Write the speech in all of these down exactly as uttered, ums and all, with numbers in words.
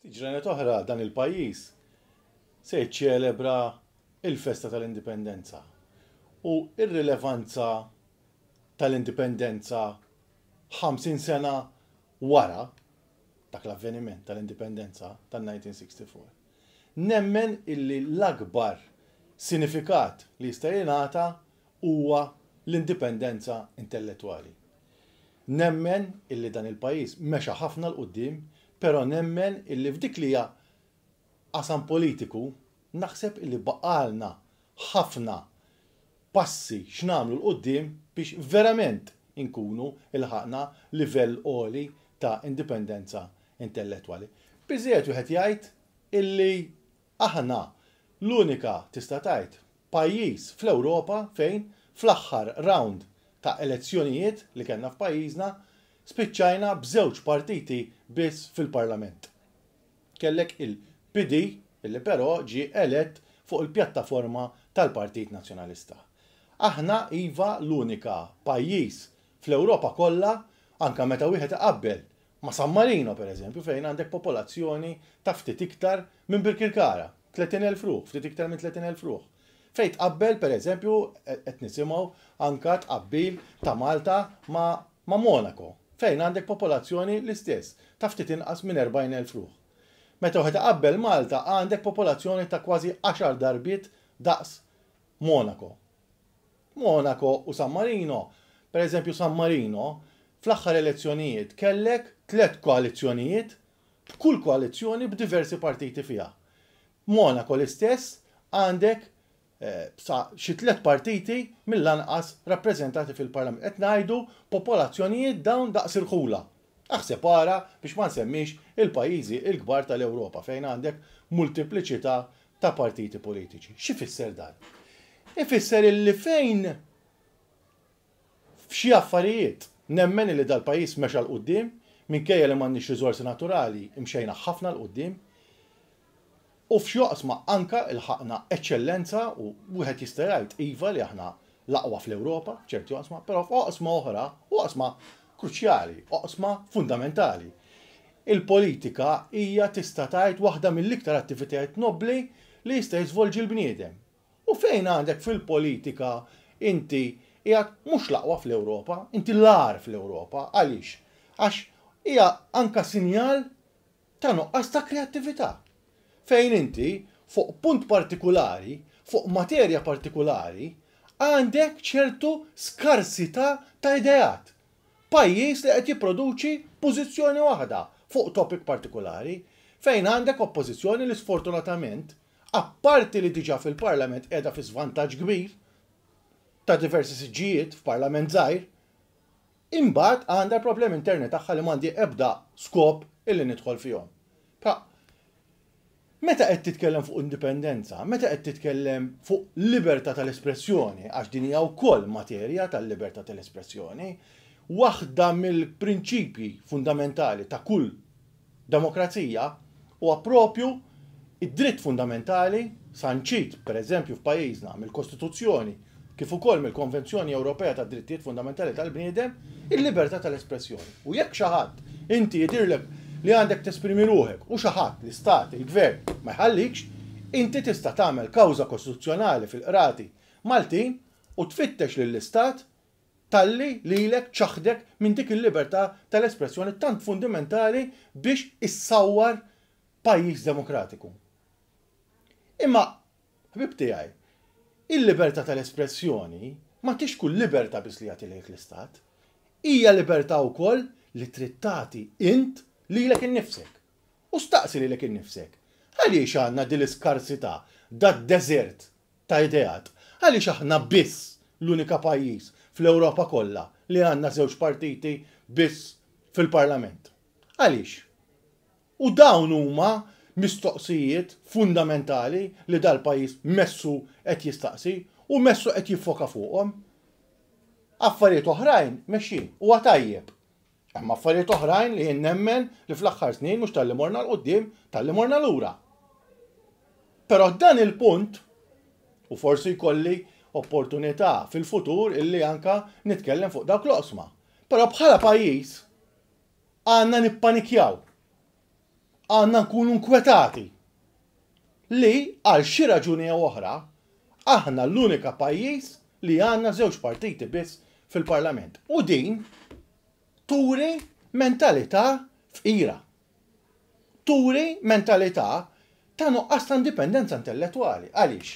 Ftit ġranet oħra dan il-pajjiż se jiċċelebra il-festa tal-Indipendenza. U ir-rilevanza tal-Indipendenza ħamsin sena wara dak l-avveniment tal-Indipendenza tal-elf disa' mija u sitta u sittin. Nemmen illi l-akbar sinifikat li jista' jingħata huwa l-indipendenza intellettwali. Nemmen illi dan il-pajjiż mexa ħafna 'l quddiem, però nemmen illi f'dik li hija qasam politiku naħseb illi baqalna ħafna passi x'nagħmlu 'l quddiem biex verament inkunu ilħaqna livell għoli ta' indipendenza intellettwali. Biżejjed wieħed jgħid illi aħna l-unika, tista' tgħid, pajjiż fl-Ewropa fejn fl-aħħar round ta' elezzjonijiet li kellna f'pajjiżna spiċċajna b'żewġ partiti biss fil-Parlament. Kellek il-P D illi però ġie elett fuq il-pjattaforma tal-Partit Nazzjonalista. Aħna, iva, l-unika pajjiż fl-Ewropa kollha, anka meta wieħed iqabbel ma' San Marino, per eżempju, fejn għandek popolazzjoni ta' ftit iktar minn Birkirkara, tletin elf ruħ, ftit iktar minn tletin elf ruħ. Fejn tqabbel, per eżempju, qed nisimgħu anka tqabbil ta' Malta ma', ma' Monaco, fejn għandek popolazzjoni l-istess ta' ftit inqas minn erbgħin elf ruħ. Meta wieħed iqabbel Malta, għandek popolazzjoni ta' kważi għaxar darbiet daqs Monaco. Monaco u San Marino, per eżempju, San Marino, fl-aħħar elezzjonijiet kellek tliet koalizzjonijiet, b'kull koalizzjoni b'diversi partiti fiha. Monaco l-istess, għandek eh, sa xi tliet partiti mill-anqas rappreżentati fil-Parlament. Qed ngħidu popolazzjonijiet dawn daqs irħula. Aħseb ara biex ma nsemmix il-pajjiżi il-kbar tal-Ewropa fejn għandek multipliċità ta' partiti politiċi. X'ifisser dan? Ifisser illi fejn f'xi affarijiet nemmen li dal-pajjiż mexa 'l quddiem, minkejja li m'għandniex riżorsi naturali, imxejna ħafna 'l quddiem. U f'xi oqsma anka ilħaqna eċċellenza u wieħed jista' jgħid, iva, li aħna l-aqwa fl-Ewropa ċerti oqsma, però f'oqsma oħra, oqsma kruċjali, oqsma fundamentali. Il-politika hija, tista' tgħid, waħda mill-iktar attivitajiet nobbli li jista' jiżvolġi l-bniedem. U fejn għandek fil-politika inti qiegħed mhux l-aqwa fl-Ewropa, inti l-agħar fl-Ewropa. Għaliex? Għax hija anka sinjal ta' nuqqas ta' kreattività. Fejn inti fuq punt partikolari, fuq materja partikolari, għandek ċertu skarsità ta' ideat. Pajjiż li qed jipproduċi pożizzjoni waħda fuq topic partikolari, fejn għandek oppożizzjoni li sfortunatament, apparti li diġà fil-Parlament qiegħda fi svantaġġ kbir ta' diversi siġġijiet f'Parlament żgħir, imbagħad għandha problemi interni tagħha li m'għandi ebda skop illi nidħol fihom. Pa, meta qed titkellem fuq indipendenza, meta qed titkellem fuq libertà tal-espressjoni, għax din hija wkoll materja tal-libertà tal-espressjoni, waħda mill-prinċipji fundamentali ta' kull demokrazija huwa propju id-dritt fundamentali sanċit, per eżempju, f'pajjiżna mill-Kostituzzjoni kif ukoll mill-Konvenzjoni Ewropea tad Drittijiet Fundamentali tal-Bniedem, il-libertà tal-espressjoni. U jekk xi ħadd, inti jidirlek li għandek tesprimi ruħek u xi ħadd, l-istat, il-gvern, ma jħallikx, inti tista' tagħmel kawża kostituzzjonali fil-qrati Maltin u tfittex lill-istat talli lilek ċaħdek minn dik il-libertà tal-espressjoni tant fundamentali biex issawwar pajjiż demokratiku. Imma, ħbib tiegħi, il-libertà tal-espressjoni ma tix kull libertà biss li jagħti lejk l-istat. Hija libertà wkoll li trid tagħti int lilek innifsek. U staqsi lilek innifsek. Għaliex għandna din l-iskarsità, dad-deżert ta' ideat? Għaliex aħna biss l-unika pajjiż fl-Ewropa kollha li għandna żewġ partiti biss fil-Parlament? Għaliex? U dawn huma mistoqsijiet fundamentali li dal-pajjiż messu qed jistaqsi u messu qed jiffoka fuqhom. Affarijiet oħrajn mexjin huwa tajjeb. Hemm affarijiet oħrajn li jien nemmen li fl-aħħar snin mhux talli morna 'l quddiem, talli morna lura. Però dan il-punt, u forsi jkolli opportunità fil-futur illi anka nitkellem fuq dawk l-oqsma. Però bħala pajjiż għandna nippanikjaw. Għandna nkunu nkwetati li għal xi raġuni jew oħra aħna l-unika pajjiż li għandna żewġ partiti biss fil-Parlament. U din turi mentalità fqira. Turi mentalità ta' nuqqas ta' indipendenza intellettwali. Għaliex?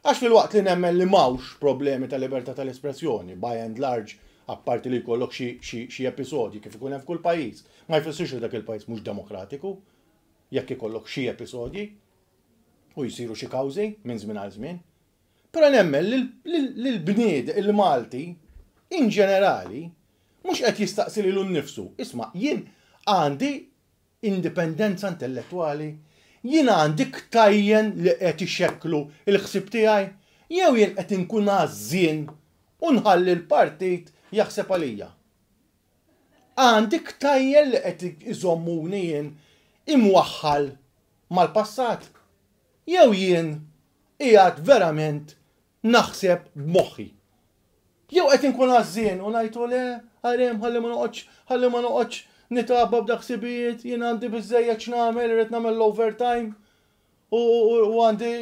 Għax filwaqt li nemmen li m'hawnx problemi ta' libertà tal-espressjoni, by and large, apparti li jkollok xi episodji kif ikun hemm f'kull pajjiż, ma jfissirx li dak il-pajjiż mhux demokratiku, jekk ikollok xi episodji u jsiru xi kawżi minn żmien għal żmien. Però nemmen li l-bnied il-Malti in ġenerali mhux qed jistaqsi lilu nnifsu, isma' jien għandi indipendenza intellettwali, jien għandi ktajjen li qed ixekklu l-ħsieb tiegħi, jew jien qed inkun għażżien u nħalli l-partit jaħseb għalija. Għandi ktajjen li qed iżommuni jien imwaħħal mal-passat. Jew jien qiegħed verament naħseb b'moħħi. Jew qed inkun għażżien u ngħidu le, għarem ħalli ma noqgħodx, ħalli ma noqgħodx nitgħabba b'dak ħsibijiet, jien għandi biżejjed x'nagħmel, irrid nagħmel l-overtime u għandi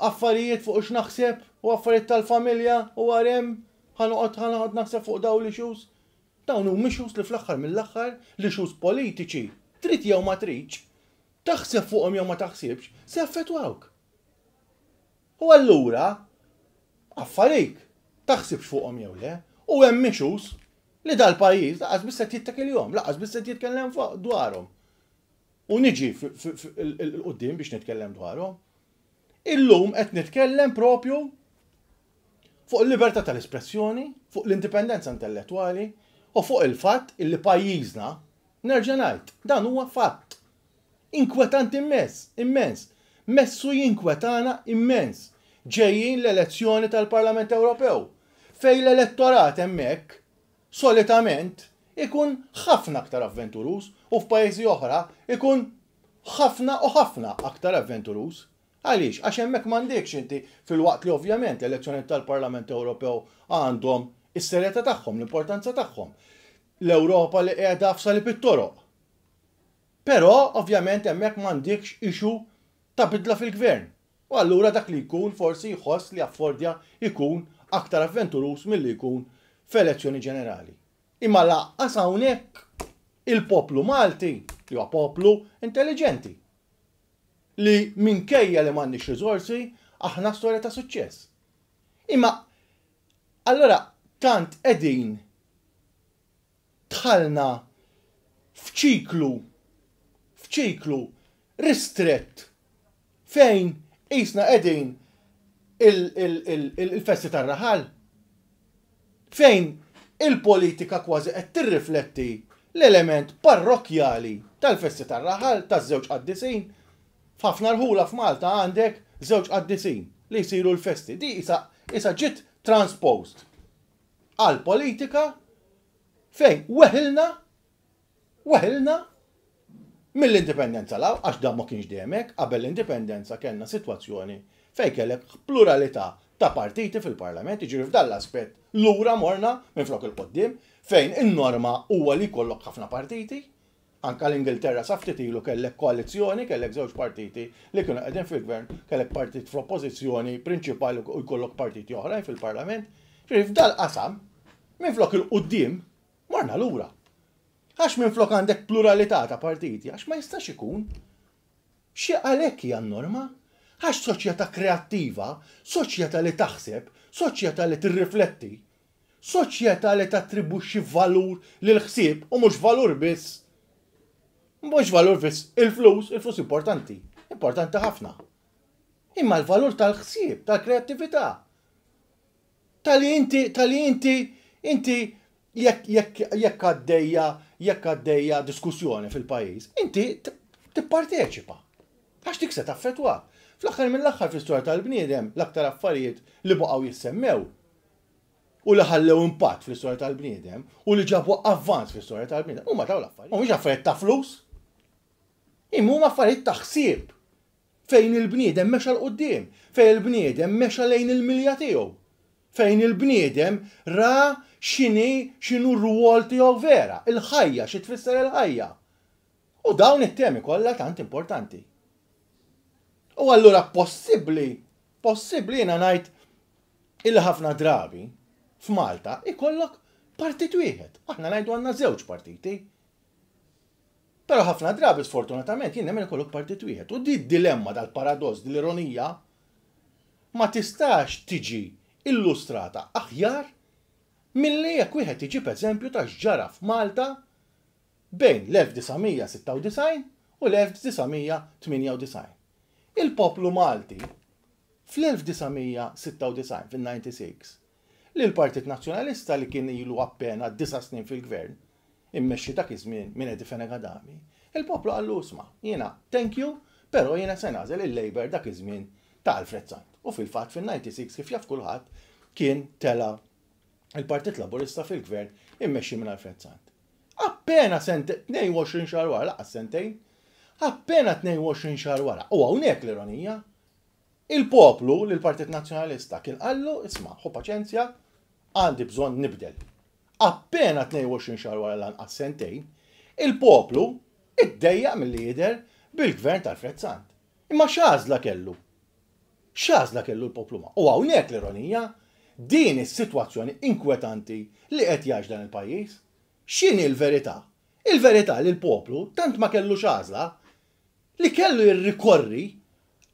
affarijiet fuq x'naħseb u affarijiet tal-familja u għarem ħa noqgħod ħa noqgħod naħseb fuq dawn l-issues. Dawn huma issues li fl-aħħar mill-aħħar l-issues politiċi, trid jew ma tridx, taħseb fuqhom jew ma taħsibx, se jaffettwawk. U allura affarik taħsibx fuqhom jew le, u hemm issues li dal-pajjiż lanqas biss qed jittakilhom, lanqas biss qed jitkellem dwarhom. U niġi 'l quddiem biex nitkellem dwarhom. Illum qed nitkellem propju fuq il-libertà tal-espressjoni, fuq l-indipendenza intellettwali u fuq il-fatt illi pajjiżna, nerġa' ngħid, dan huwa fatt. Inkwetant immens, immens. Messu jinkwetana immens. Ġejjin l-elezzjoni tal-Parlament Ewropew, fejn l-elettorat hemmhekk solitament ikun ħafna aktar avventuruż u f'pajjiżi oħra ikun ħafna u ħafna aktar avventuruż. Għaliex? Għax hemmhekk m'għandekx inti filwaqt li ovvjament l-elezzjoni tal-Parlament Ewropew għandhom is-serjetà tagħhom, l-importanza tagħhom. L-Ewropa li qiegħda f'salib it-toroq. Però ovvjament hemmhekk m'għandekx issue ta' bidla fil-gvern. U allura dak li jkun forsi jħoss li affordja jkun aktar avventuruż milli jkun f'elezzjoni ġenerali. Imma lanqas hawnhekk il-poplu Malti, li huwa poplu intelligenti, li minkejja li m'għandniex riżorsi, aħna storja ta' suċċess. Imma allora tant qegħdin dħalna f'ċiklu f'ċiklu ristrett fejn qisna qegħdin il-festi tar-raħal, fejn il-politika kważi qed tirrifletti l-element parrokjali tal-festi tar-raħal taż-żewġ qaddisin. F'ħafna rħula f'Malta għandek żewġ qaddisin li jsiru l-festi. Di isa, isa ġiet transposed għal politika fejn weħilna weħilna mill-indipendenza 'l hawn, għax dan ma kienx dejjem hekk, qabel l-indipendenza kellna sitwazzjoni fejn kellek pluralità ta' partiti fil-parlament, jiġifieri f'dan l-aspett lura morna minn flok 'il quddiem, fejn in-norma huwa li jkollok ħafna partiti. Anka l-Ingilterra sa ftit ilu kellek koalizzjoni, kellek żewġ partiti li kienu qegħdin fil-gvern, kellek partit fl-oppożizzjoni prinċipali u jkollok partiti oħrajn fil-parlament. Ġifieri f'dal-qasam, minn flok 'il quddiem, morna lura. Għax minn flok għandek pluralità ta' partiti, għax ma jistax ikun. Xi għalhekk hija n-norma? Għax soċjetà kreattiva, soċjetà li taħseb, soċjetà li tirrifletti, soċjetà li tattribwixxi valur lil ħsieb u mhux valur biss. Mhux valur biss il-flus, il-flus importanti, importanti ħafna. Imma l-valur tal-ħsieb, tal-kreattività. Tal-li inti, tal-li inti, inti jekk jekk jekk għaddejja jekk għaddejja diskussjoni fil-pajjiż, inti tipparteċipa. Għax dik se taffettwa. Fl-aħħar mill-aħħar fl-istorja tal-bniedem l-aktar affarijiet li baqgħu jissemmew u li ħallew impatt fl-istorja tal-bniedem u li ġabu avvanz fl-istorja tal-bniedem huma dawn l-affarijiet. Mhumiex affarijiet ta' flus, imma huma affarijiet ta' ħsieb fejn il-bniedem mexa 'l quddiem, fejn il-bniedem mexa lejn il-milja tiegħu, fejn il-bniedem ra x'inhi x'inhu r-rwol tiegħu vera, il-ħajja, xi tfisser il-ħajja. U dawn it-temi kollha tant importanti. U allura possibbli, possibbli jiena ngħid illi ħafna drabi f'Malta ikollok partit wieħed. Aħna ngħidu għandna żewġ partiti. Però ħafna drabi, sfortunatament, jien nemmen ikollok partit wieħed. U di dilemma, dal-paradoss, l-ironija ma tistax tiġi illustrata aħjar milli jekk wieħed iġib eżempju ta' x'ġara f'Malta bejn l-elf disa' mija sitta u disgħin u l-elf disa' mija tmienja u disgħin. Il-poplu Malti fl-elf disa' mija sitta u disgħin, fil-disgħa u disgħin, li l-Partit Nazzjonalista li kien ilu appena disa' snin fil-gvern, immexxi dak iż-żmien minn Eddie Fenech Adami, il-poplu qallu, "Isma', jiena thank you, però jiena se nagħżel il-Labour dak iż-żmien ta' Alfred Sant." U fil-fatt fil-disgħa u disgħin, kif jaf kulħadd, kien tela il-Partit Laburista fil-gvern immexxi minn Alfred Sant. Appena sente, tnejn u għoxrin xahar wara, lanqas sentejn, appena tnejn u għoxrin xahar wara, u hawnhekk l-ironija, il-poplu l-Partit Nazzjonalista kien qallu, "Isma', ħu paċenzja, għandi bżonn nibdel." Appena tnejn u għoxrin xahar wara, lanqas sentejn, il-poplu iddejjaq mill-lider bil-gvern tal-Alfred Sant. Imma x'għażla kellu? X'għażla kellu l-poplu ma? U hawnhekk l-ironija, din is-sitwazzjoni inkwetanti li qed jgħix dan il-pajjiż. X'inhi l-verità? Il-verità li l-poplu tant ma kellu x'għażla li kellu jirrikorri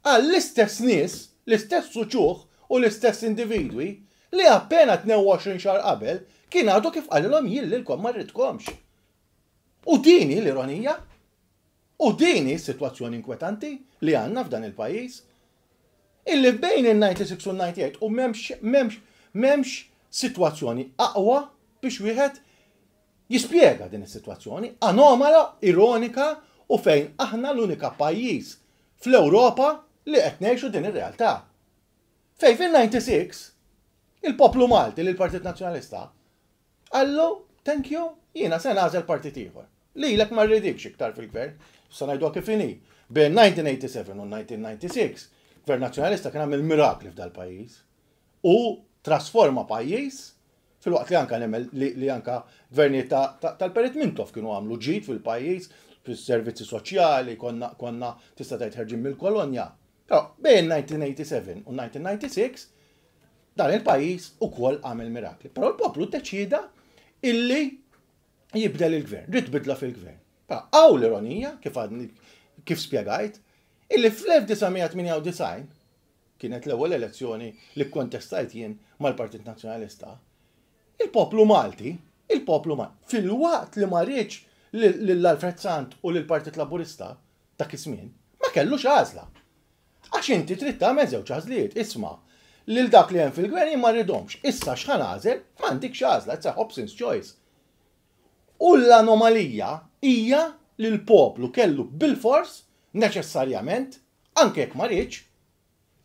għall-istess nies, l-istess uċuħ u l-istess individwi li appena tnejn u għoxrin xahar qabel kien għadu kif qalilhom, "Jien lilkom ma rridkomx." U dini l-ironija, u dini s-sitwazzjoni inkwetanti li għandna f'dan il-pajjiż. Illi bejn il-disgħa u disgħin u l-disgħa u tmienja u m'hemmx, m'hemmx, m'hemmx sitwazzjoni aqwa biex wieħed jispjega din is-sitwazzjoni anomala, ironika u fejn aħna l-unika pajjiż fl-Ewropa li qed ngħixu din ir-realtà. Fejn fil-disgħa u disgħin il-poplu Malti li l-Partit Nazzjonalista qallu, "Thank you, jiena se nagħżel partit ieħor. Lilek ma rridikx iktar fil-gvern," sa ngħidu kif inhi. Bejn elf disa' mija sebgħa u disgħin u elf disa' mija disgħa u disgħin, Gvern Nazzjonalista kien għamel mirakli f'dal pajjiż u trasforma pajjiż, filwaqt li anka nemmen li, li anka gvernijiet tal-Perit Mintoff kienu għamlu ġid fil-pajjiż, fis-servizzi soċjali, konna, konna tista' tgħid ħerġin mill-kolonja. Però bejn elf disa' mija sebgħa u disgħin u elf disa' mija disgħa u disgħin dan il-pajjiż ukoll għamel mirakli. Però l-poplu ddeċida illi jibdel il-gvern, ried bidla fil-gvern. Però hawn l-ironija, kif għadni kif spjegajt, illi fl-elf disa' mija tmienja u disgħin kienet l-ewwel elezzjoni li kontestajt jien mal-Partit Nazzjonalista. Il-poplu Malti, il-poplu Malti, filwaqt li ma riedx lil Alfred Sant u lill-Partit Laburista dak iż-żmien, ma kellux għażla. Għax inti trid tagħmel żewġ għażliet, isma', lil dak li hemm fil-gvern jien ma rridhomx. Issa x'ħa nagħżel? M'għandikx għażla, it's a Hobson's choice. U l-anomalija hija li l-poplu kellu bil-fors neċessarjament, anke jekk ma riedx,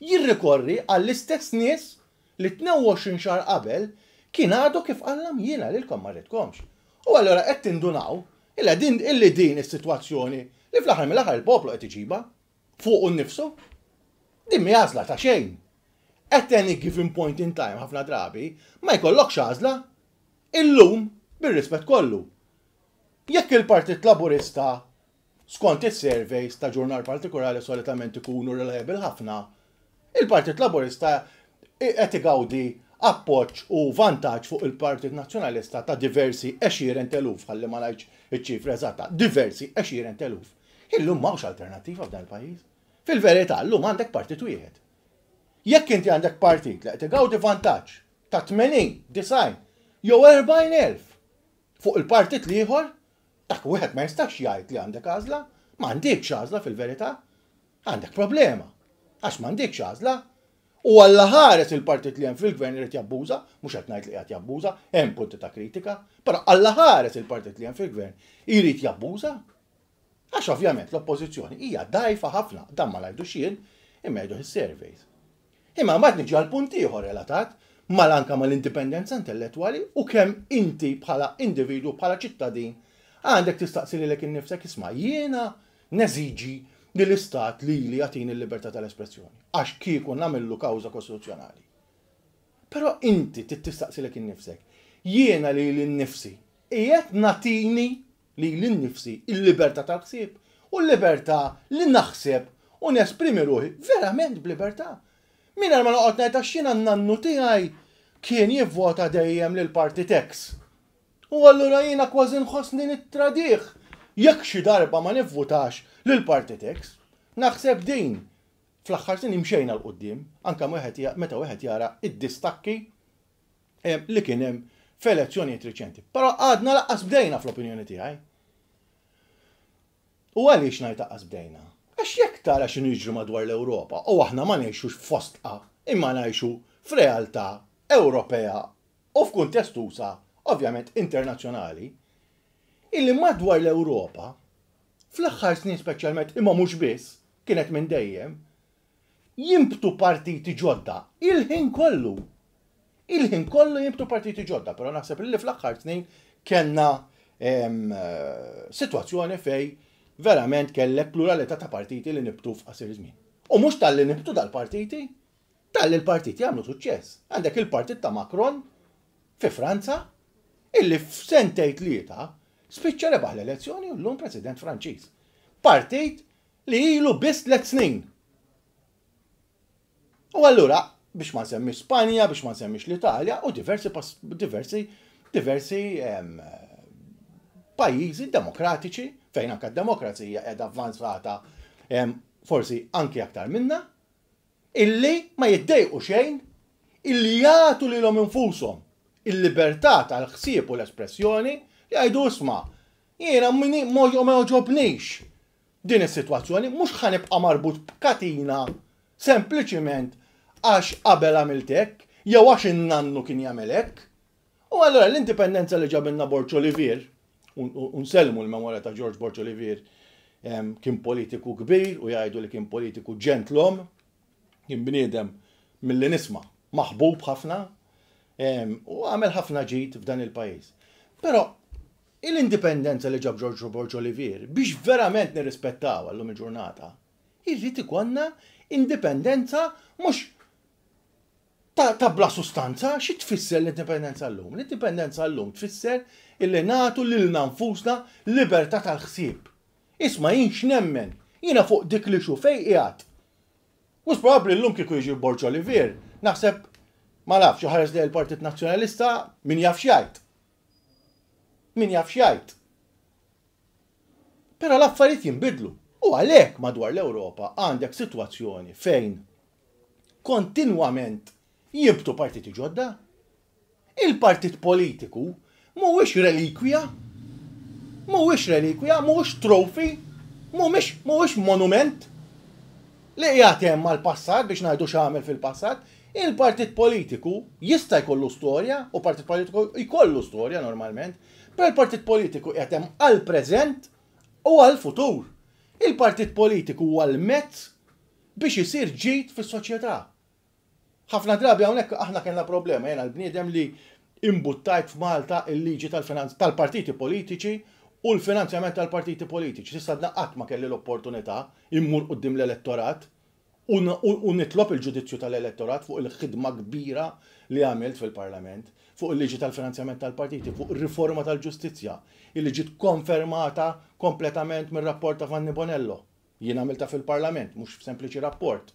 jirrikorri għall-istess nies li tnejn u għoxrin xahar qabel kien għadu kif qalilhom, "Jiena lilkom ma rridkomx." U allura qed tindunaw illa din illi din is-sitwazzjoni li fl-aħħar mill-aħħar il-poplu qed iġibha fuq nnifsu. Din mhi għażla ta' xejn. At any given point in time, ħafna drabi ma jkollokx għażla. Illum, bir-rispett kollu, jekk il-Partit Laburista, skont is-surveys ta' ġurnal partikolari, solitament ikunu reliable ħafna, il-Partit Laburista qed igawdi appoġġ u vantaġġ fuq il-Partit Nazzjonalista ta' diversi għexieren t'eluf, ħalli ma ngħidx iċ-ċifra eżatta, diversi għexieren t'eluf. Illum m'hawnx alternattiva f'dan il-pajjiż. Fil-verità, llum għandek partit wieħed. Jekk inti għandek partit li qed igawdi vantaġġ ta' tmenin, disgħin jew erbgħin elf fuq il-partit l-ieħor, dak wieħed ma jistax jgħid li għandek għażla, m'għandekx għażla fil-verità. Għandek problema. Għax m'għandekx għażla. U Alla ħares il-partit li hemm fil-gvern irid jabbuża, mhux qed ngħid li qed jabbuża, hemm punti ta' kritika, però Alla ħares il-partit li hemm fil-gvern irid jabbuża. Għax ovvjament l-oppożizzjoni hija dgħajfa ħafna, dan ma ngħidux jien, imma jgħidu is-surveys. Imma mbagħad niġi għal punt ieħor relatat mal-anka mal-indipendenza intellettwali u kemm inti bħala individu, bħala ċittadin, għandek tistaqsi lilek innifsek, "Isma', jiena neżiġi li l-istat li li jagħtini l-libertà tal-espressjoni. Għax kieku nagħmillu kawża kostituzzjonali." Però inti tistaqsi lilek innifsek, "Jiena lili nnifsi, qiegħed nagħtini lili nnifsi il-libertà tal-ħsieb u l-libertà li naħseb u nesprimi ruħi verament b'libertà. Mingħajr ma noqgħod ngħid għax jiena n-nannu tiegħi kien jivvota dejjem lil partit X. U allura jiena kważi nħossni nittradih jekk xi darba ma nivvutax lil partit X. Naħseb din fl-aħħar snin imxejna 'l quddiem, anke meta wieħed jara id-distakki li kien hemm f'elezzjonijiet riċenti. Però għadna lanqas bdejna fl-opinjoni tiegħi. U għaliex ngħid lanqas bdejna? Għax jekk tara x'inhu jiġri madwar l-Ewropa u aħna ma ngħixux f'fostqa imma ngħixu f'realtà Ewropea u f'kuntest usa' ovvjament internazzjonali, illi madwar l-Ewropa fl-aħħar snin speċjalment imma mhux biss kienet minn dejjem jinbtu partiti ġodda il-ħin kollu. Il-ħin kollu jinbtu partiti ġodda, però naħseb li fl-aħħar snin kellna sitwazzjoni fejn verament kellek pluralità ta' partiti li nibtu f'qasir żmien. U mhux talli nibtu dal-partiti, talli l-partiti għamlu suċċess. Għandek il-partit ta' Macron fi Franza, illi f'sentejn tlieta spiċċa rebaħ l-elezzjoni u llum President Franċiż. Partit li ilu biss tliet snin. U allura, biex ma nsemmix Spanja, biex ma nsemmix l-Italja, u diversi, diversi, diversi pajjiżi demokratiċi, fejn anka d-demokrazija qiegħda avvanzata forsi anki aktar minna, illi ma jiddejqu xejn, illi jagħtu lilhom infushom il-libertà tal-ħsieb u l-espressjoni li jgħidu isma' jiena ma jogħġobnix din is-sitwazzjoni, mhux ħa nibqa' marbut b'katina sempliċiment għax qabel għamilt hekk, jew għax in-nannu kien jagħmel hekk. U allura l-indipendenza li ġabilna Borg Olivier, u nsellmu l-memorja ta' George Borg Olivier, kien politiku kbir u jgħidu li kien politiku ġentlom, kien bniedem milli nisma' maħbub ħafna u għamel ħafna ġid f'dan il-pajjiż. Però l-indipendenza li ġab George Borg Olivier biex verament nirrispettaw għallum il-ġurnata, irrid ikollna indipendenza mhux ta', ta bla sustanza, xi tfisser l-indipendenza llum? L-indipendenza llum tfisser illi nagħtu lilna nfusna libertà tal-ħsieb. Isma' jien x'nemmen, jiena fuq dik li xu fejn qiegħed. Mhux probabbli llum kieku jiġi Borg Olivier, naħseb ma nafx ħares li l-Partit Nazzjonalista min jaf x'jgħid. Min jaf x'jgħid. Però l-affarijiet jinbidlu. U għalhekk madwar l-Ewropa għandek sitwazzjoni fejn kontinwament jinbtu partiti ġodda. Il-partit politiku mhuwiex relikwija, mhuwiex relikwija, mhuwiex trophy, mhuwiex mhuwiex monument li qiegħed hemm mal-passat biex ngħidu x'għamel fil-passat. Il-partit politiku jista' jkollu storja, u partit politiku jkollu storja normalment, però il-partit politiku qiegħed hemm għall-preżent u għall-futur. Il-partit politiku huwa l-mezz biex isir ġid fis-soċjetà. Ħafna drabi hawnhekk aħna kellna problema, jiena l-bniedem li imbuttajt f'Malta il-liġi tal-partiti politiċi u l-finanzjament tal-partiti politiċi. S'issa qatt ma kelli l-opportunità immur quddiem l-elettorat u nitlob il-ġudizzju tal-elettorat fuq il-ħidma kbira li għamilt fil-Parlament, fuq il-liġi tal-finanzjament tal-partiti, fuq il-riforma tal-ġustizzja, illi ġiet konfermata kompletament mir-rapport ta' Vanni Bonello. Jien għamilta fil-Parlament, mhux f'sempliċi rapport.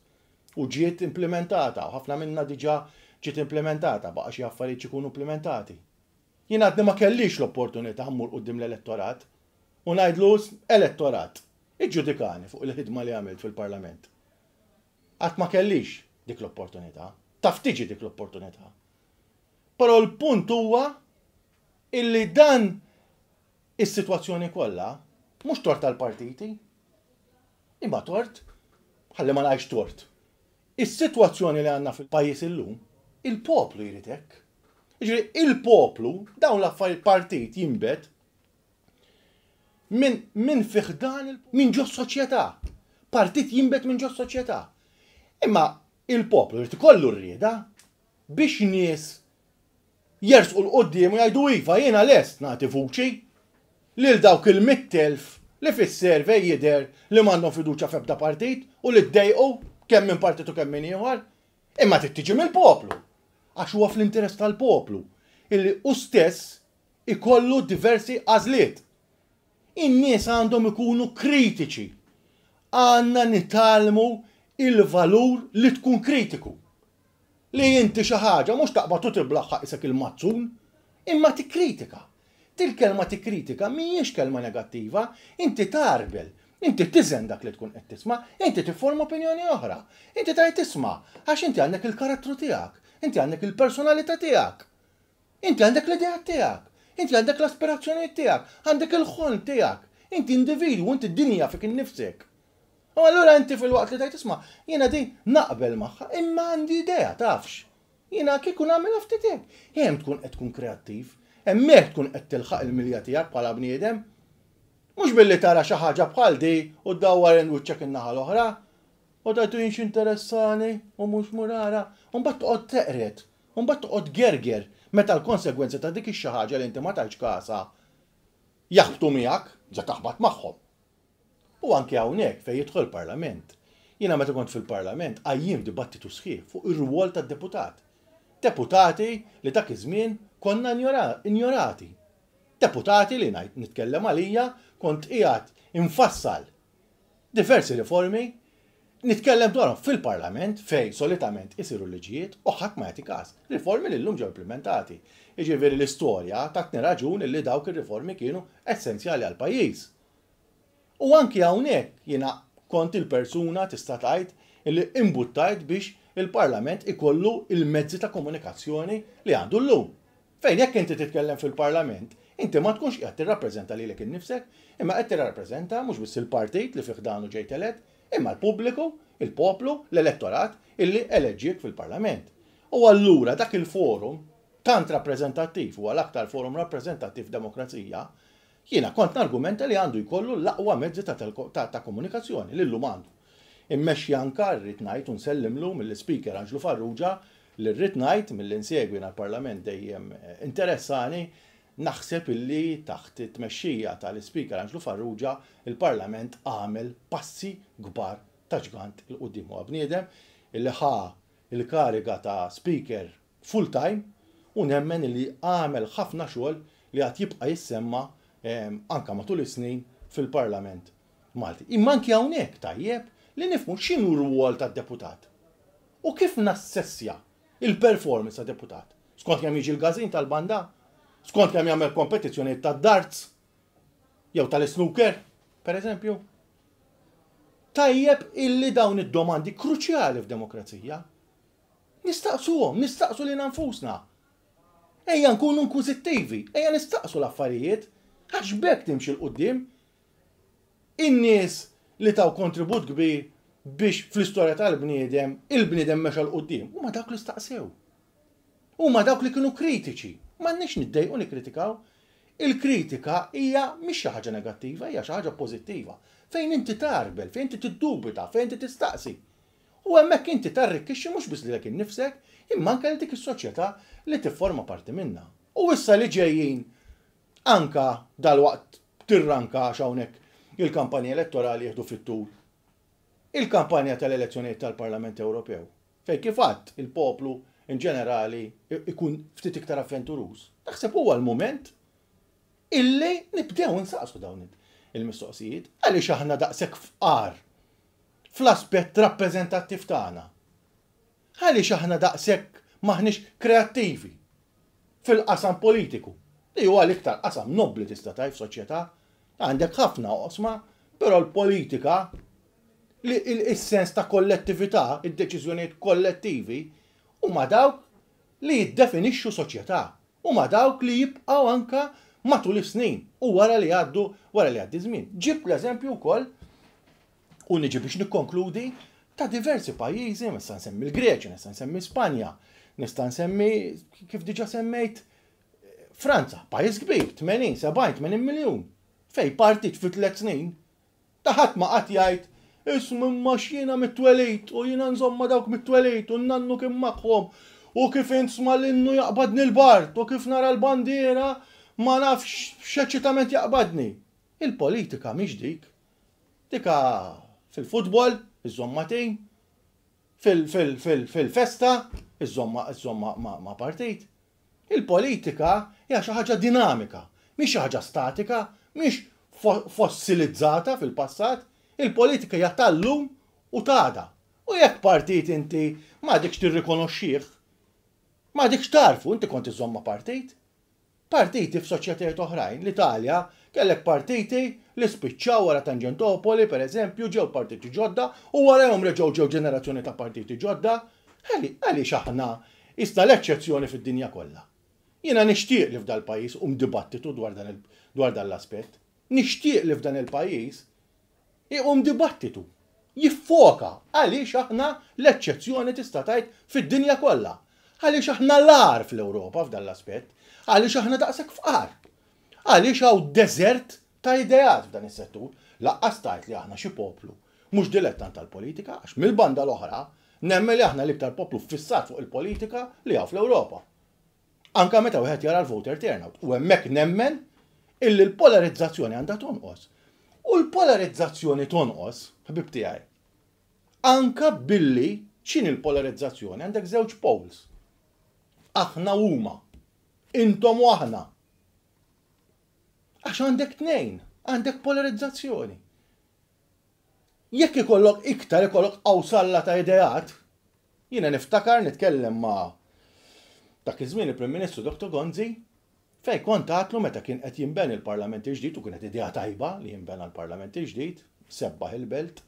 U ġiet implementata, u ħafna minna diġà ġiet implementata, baqa' xi affarijiet ikunu implementati. Jien għadni ma kellix l-opportunità mmur quddiem l-elettorat u ngħidlu elettorat, iġġudikani fuq il-ħidma li għamilt fil-Parlament. Qatt ma kellix dik l-opportunità, taf tiġi dik l-opportunità. Però l-punt huwa illi dan is-sitwazzjoni kollha mhux tort tal-partiti, imma tort, ħalli ma ngħidx tort. Is-sitwazzjoni li għandna fil-pajjiż illum, il-poplu jrid hekk. Jiġifieri il-poplu dawn l-affarijiet partit jinbet minn min fi ħdan minn ġo soċjetà. Partit jinbet minn ġo soċjetà. Imma il-poplu jrid ikollu r-rieda biex nies jersqu 'l quddiem u jgħidu iva jiena lest nagħti vuċi lil dawk il-mitt elf li fis-survey jidher li m'għandhom fiduċja f'ebda partit u li ddejqu kemm minn partit u kemm minn ieħor. Imma trid tiġi mill-poplu. Għax huwa fl-interess tal-poplu illi hu stess ikollu diversi għażliet. In-nies għandhom ikunu kritiċi. Għandna nitgħallmu il-valur li tkun kritiku. Li inti xi ħaġa mhux taqbad u tiblaħħaq isek il-mazzun, imma tikkritika. Til-kelma tikkritika mhijiex kelma negattiva, inti tarbel, inti tiżen dak li tkun qed tisma', inti tifforma opinjoni oħra. Inti tajt tisma' għax inti għandek il-karattru tiegħek, inti għandek il-personalità tiegħek. Inti għandek l-idea tiegħek, inti għandek l-aspirazzjonijiet tiegħek, għandek il-ħolm tiegħek. Inti individwu, inti dinja fik innifsek. U allura inti fil-waqt li tajt isma', jiena din naqbel magħha, imma għandi idea, tafx. Jiena kieku nagħmel ftit hekk. Hemm tkun qed tkun kreattiv, hemmhekk tkun qed tilħaq il-milja tiegħek bħala bniedem. Mhux billi tara xi ħaġa bħal di u ddawwar wiċċek in-naħa l-oħra. U tajtu jien x'interessani u mhux murara. U mbagħad toqgħod teqret, u mbagħad toqgħod gerger meta l-konsegwenzi ta' dik ix-xi ħaġa li inti ma tajtx kasha jaħbtu miegħek, ġa taħbat magħhom. U anke hawnhekk fejn jidħol il-Parlament. Jiena meta kont fil-Parlament qajjim dibattitu sħiħ fuq ir-rwol tad-deputat. Deputati li dak iż-żmien konna injorati. Deputati li ngħid nitkellem għalija kont qiegħed infassal diversi riformi, nitkellem dwarhom fil-Parlament fejn solitament isiru liġijiet u ħadd ma jagħti każ. Riformi li llum ġew implementati. Jiġifieri l-istorja tatni raġun li dawk ir-riformi kienu essenzjali għal pajjiż. U anki hawnhekk jiena kont il-persuna tista' tgħid illi imbuttajt biex il-Parlament ikollu il-mezzi ta' komunikazzjoni li għandu llum. Fejn jekk inti titkellem fil-Parlament, inti ma tkunx qiegħed tirrappreżenta lilek innifsek, imma qed tirrappreżenta mhux biss il-partit li fih danu ġejt elett, imma l-pubbliku, il-poplu, l-elettorat illi eleġġiek fil-Parlament. U allura dak il-forum tant rappreżentattiv huwa l-aktar forum rappreżentattiv demokrazija, jiena kont nargumenta li għandu jkollu l-aqwa mezzi ta', ta, ta komunikazzjoni li llum għandu. Immexxi anka rrid ngħid u nsellimlu mill-Speaker Anġlu Farrugia li rrid ngħid milli nsegwi l-Parlament dejjem interessani, naħseb illi taħt it-tmexxija tal-Speaker Anġlu Farrugia il-Parlament għamel passi kbar ta' ġgant 'il quddiem. Huwa bniedem illi ħa il-kariga ta' Speaker full time u nemmen illi għamel ħafna xogħol li għad jibqa' jissemma anka matul is-snin fil-Parlament Malti. Imma anki hawnhekk tajjeb li nifhmu x'inhu r-rwol tad-deputat u kif nassessja il-performance ta' deputat. Skont kemm jiġi l-każin tal-banda, skont kemm jagħmel kompetizzjonijiet tad-darts jew tal-snooker, per eżempju. Tajjeb illi dawn id-domandi kruċjali f'demokrazija nistaqsuhom, nistaqsu lilna nfusna. Ejja nkunu inkwiżittivi, ejja nistaqsu l-affarijiet, għax b'hekk timxi 'l quddiem. In-nies li taw kontribut kbir biex fl-istorja tal-bniedem, il-bniedem mexa 'l quddiem, huma dawk li staqsew. Huma dawk li kienu kritiċi. M'għandniex niddejqu nikkritikaw. Il-kritika hija mhix xi ħaġa negattiva, hija xi ħaġa pożittiva. Fejn inti tarbel, fejn inti tiddubita, fejn inti tistaqsi. U hemmhekk inti tarrikkixxi mhux biss lilek innifsek, imma anke dik is-soċjetà li tifforma parti minnha. U issa li ġejjin anka dalwaqt tirranka għax hawnhekk il-kampanja elettorali jieħdu fit-tul. Il-kampanja tal-elezzjonijiet tal-Parlament Ewropew, fejn kif għadd il-poplu in ġenerali ikun ftit iktar avventuruż. Naħseb huwa l-mument illi nibdew nsaqsu dawn il-mistoqsijiet għaliex aħna daqshekk fqar fl-aspett rappreżentattiv tagħna. Għaliex aħna daqshekk maħniex kreattivi fil-qasam politiku, li huwa l-iktar qasam nobbli tista' tgħid f'soċjetà. Għandek ħafna oqsma, però l-politika, il-sens ta' kollettività, id-deċiżjonijiet kollettivi, huma dawk li jiddefinixxu soċjetà, huma dawk li jibqgħu anka matul is-snin u wara li għaddu wara li għaddi żmien. Ġib l-eżempju wkoll u niġi biex nikkonkludi ta' diversi pajjiżi, nista' nsemmi l-Greċja, nista' nsemmi Spanja, nista' nsemmi kif diġà semmejt Franza, pajjiż kbir, tmenin, sebgħin, tmenin miljun, fej partit fi tliet snin, ta' ħadd ma qatt jgħid ismu imma x'jiena mit-twelid u jiena nżomma dawk mit-twelid u nannu kien magħhom u kif insma l-innu jaqbadni l-bart u kif nara l-bandiera ma nafx x'eċitament jaqbadni. Il-politika mhix dik. Dika fil-futbol, iżomma tim, fil-festa, iżomma ma' partit. Il-politika hija xi ħaġa dinamika, mhix xi ħaġa statika, mhix Fossilizzata fil-passat, il-politika hija tal-lum u t'għada. U jekk partit inti m'għadekx tirrikonoxxih, m'għadekx tagħrfu, inti kont iżżomm ma' partit. Partiti f'soċjetajiet oħrajn, l-Italja, kellek partiti li spiċċaw wara Tangentopoli, per eżempju, ġew partiti ġodda, u warahom reġgħu ġew ġenerazzjoni ta' partiti ġodda. Għaliex aħna issa l-eċċezzjoni fid-dinja kollha? Jiena nixtieq li f'dal pajjiż iqum dibattitu dwar dan dwar dan l-aspett. Nixtieq li f'dan il-pajjiż iqum dibattitu. Jiffoka għaliex aħna l-eċċezzjoni, tista' tgħid, fid-dinja kollha. Għaliex aħna l-agħar fl-Ewropa f'dan l-aspett. Għaliex aħna daqshekk fqar. Għaliex hawn deżert ta' ideat f'dan is-settur. Lanqas tgħid li aħna xi poplu mhux dilettant tal-politika, għax mill-banda l-oħra nemmen li aħna l-iktar poplu fissat fuq il-politika li hawn fl-Ewropa. Anka meta wieħed jara l-voter turnout. U hemmhekk nemmen illi l-polarizzazzjoni għandha tonqos. U l-polarizzazzjoni tonqos, ħbib tiegħi, anka billi, x'inhi l-polarizzazzjoni? Għandek żewġ poles. Aħna huma. Intom u aħna. Għax għandek tnejn, għandek polarizzazzjoni. Jekk ikollok iktar, ikollok qawsalla ta' ideat, jiena niftakar nitkellem ma' dak iż-żmien il-Prim Ministru Doktor Gonzi, fej kont għedtlu meta kien qed jinbena il-Parlament il-ġdid, u kienet idea tajba li jinbena l-Parlament il-ġdid, sebbaħ il-belt.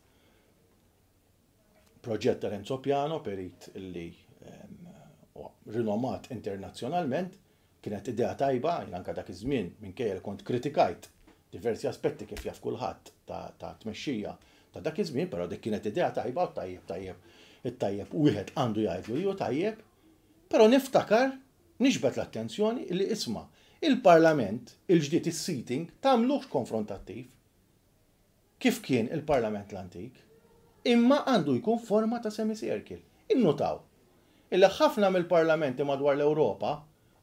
Proġett ta' Renzo Piano, perit illi rinomat internazzjonalment, kienet idea tajba. Jien anka dak iż-żmien, minkejja li kont kritikajt diversi aspetti, kif jaf kulħadd, ta' tmexxija ta' dak iż-żmien, però dik kienet idea tajba u tajjeb tajjeb it-tajjeb wieħed għandu jgħidlu ju tajjeb, però niftakar niġbed l-attenzjoni li, isma', il-Parlament il-ġdid, is-seating tagħmluhx konfrontattiv kif kien il-Parlament l-antik, imma għandu jkun forma ta' semicircle. Innotaw illi ħafna mill-parlamenti madwar l-Ewropa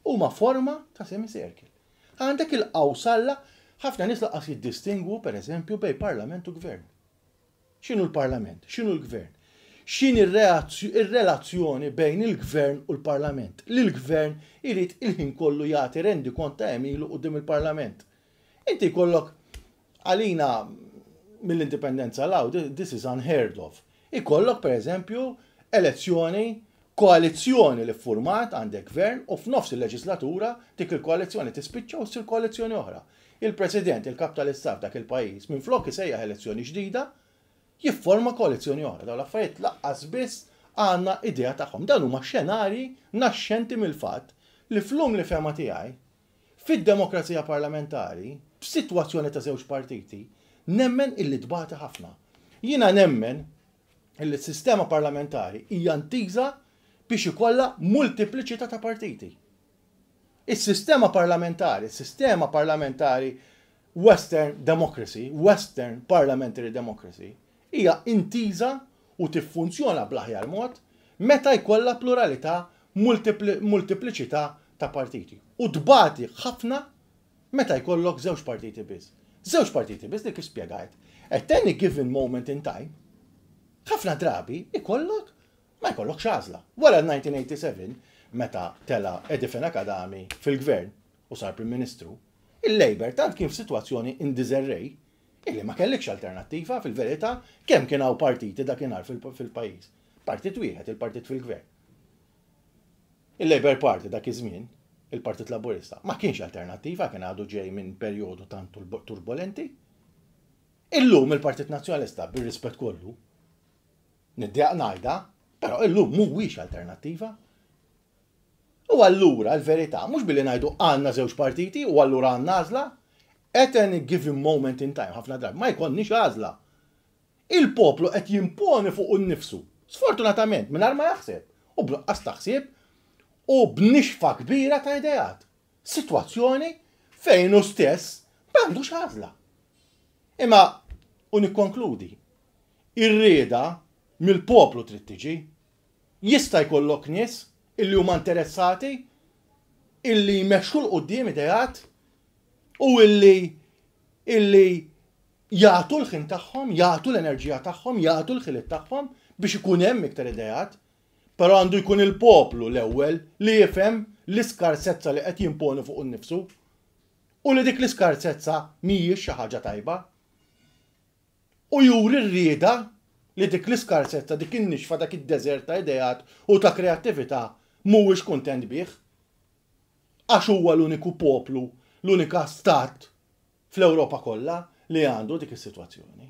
huma forma ta' semicircle. Għandek il-qawsalla, ħafna nies lanqas jiddistingwu, per eżempju, bejn parlament u gvern. X'inhu l-parlament? X'inhu l-gvern? X'inhi ir-relazzjoni bejn il-gvern u l-parlament? Li l-gvern irid il-ħin kollu jagħti rendikont ta' għemilu quddiem il-parlament. Inti jkollok, għalina mill-indipendenza 'l hawn, this is unheard of. Ikollok, per eżempju, elezzjoni, koalizzjoni li format, għandek gvern, u f'nofs il-leġislatura dik il-koalizzjoni tispiċċa u ssir koalizzjoni oħra. Il-President, il-kap tal-istat dak il-pajjiż, minn flok isejjaħ elezzjoni ġdida, jifforma koalizzjoni oħra. Dawn l-affarijiet lanqas biss għandna idea tagħhom. Dan huma xenari naxxenti mill-fatt li flum li fehma tiegħi fid-demokrazija parlamentari, b'sitwazzjoni ta' żewġ partiti, nemmen illi tbati ħafna. Jiena nemmen illi s-sistema parlamentari hija intiża biex ikollha multipliċità ta' partiti. Is-sistema parlamentari, is-sistema parlamentari Western democracy, Western parliamentary democracy, hija intiża u tiffunzjona bl-aħjar mod meta jkollha pluralità, multipliċità ta' partiti. U tbati ħafna meta jkollok żewġ partiti biss. Żewġ partiti biss li, kif spjegajt, at any given moment in time, ħafna drabi ikollok ma jkollok għażla. Wara elf disa' mija u sebgħa u tmenin, meta tela Eddie Fenech Adami fil-gvern u sar Prim Ministru, il-Labour tant kien f'sitwazzjoni in disarray illi ma kellikx alternattiva fil-verità. Kemm kien hawn partiti dakinhar fil-pajjiż? Partit wieħed, il-partit fil-gvern. Il-Labour Party dak iż-żmien, il-Partit Laburista, ma kienx alternattiva, kien għadu ġej minn perjodu tant turbolenti. Illum il-Partit Nazzjonalista, bir-rispett kollu, niddejjaq ngħidha, però illum mhuwiex alternattiva. U allura l-verità, mhux billi ngħidu għandna żewġ partiti u allura għandna għażla, at any given moment in time, ħafna drabi, ma jkollniex għażla. Il-poplu qed jimponi fuq innifsu, sfortunatament, mingħajr ma jaħseb, u b'nuqqas taħsib, u b'nixfa kbira ta' ideat. Sitwazzjoni fejn hu stess m'għandux għażla. Imma, u nikkonkludi, ir-rieda mill-poplu trid tiġi. Jista' jkollok nies illi huma interessati illi jmexxu 'l quddiem ideat u illi illi jagħtu l-ħin tagħhom, jagħtu l-enerġija tagħhom, jagħtu l-ħiliet tagħhom biex ikun hemm iktar ideat. Però għandu jkun il-poplu l-ewwel li jifhem l-iskarsezza li qed jimponi fuq innifsu. U li dik l-iskarsezza mhijiex xi ħaġa tajba. U juri r-rieda li dik l-iskarsezza, dik in-nixfa, dak id-deżert ta' ideat u ta' kreattività mhuwiex kuntent bih. Għax huwa l-uniku poplu, l-unika stat fl-Ewropa kollha li għandu dik is-sitwazzjoni.